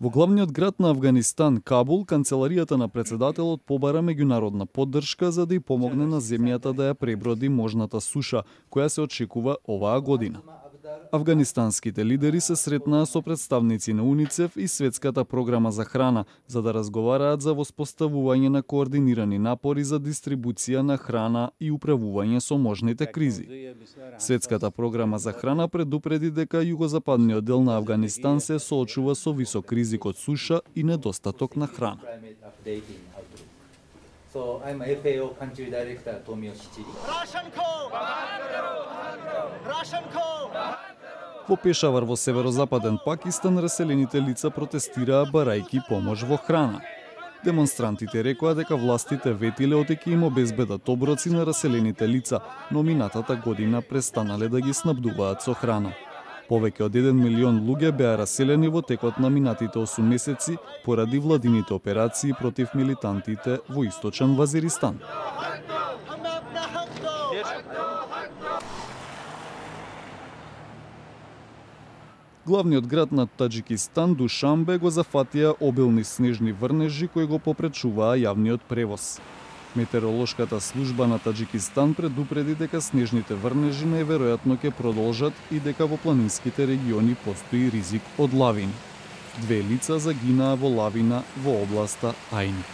Во главниот град на Авганистан, Кабул, канцеларијата на председателот побара меѓународна поддршка за да ја помогне на земјата да ја преброди можната суша, која се очекува оваа година. Авганистанските лидери се сретнаа со представници на УНИЦЕФ и Светската програма за храна, за да разговараат за воспоставување на координирани напори за дистрибуција на храна и управување со можните кризи. Светската програма за храна предупреди дека југозападниот дел на Авганистан се соочува со висок ризик од суша и недостаток на храна. So I'm FAO country director Tomio Shichiri. Во Пешавар во северозападен Пакистан раселените лица протестираа барајки помош во храна. Демонстрантите рекоа дека властите ветиле одеќе им обезбедат оброци на раселените лица, но минатата година престанале да ги снабдуваат со храна. Повеќе од 1 милион луѓе беа раселени во текот на минатите 8 месеци поради владините операции против милитантите во источен Вазиристан. Главниот град на Таџикистан, Душанбе, го зафатија обилни снежни врнежи кои го попречуваа јавниот превоз. Метеоролошката служба на Таџикистан предупреди дека снежните врнежи најверојатно ќе продолжат и дека во планинските региони постои ризик од лавини. 2 лица загинаа во лавина во областа Ајни.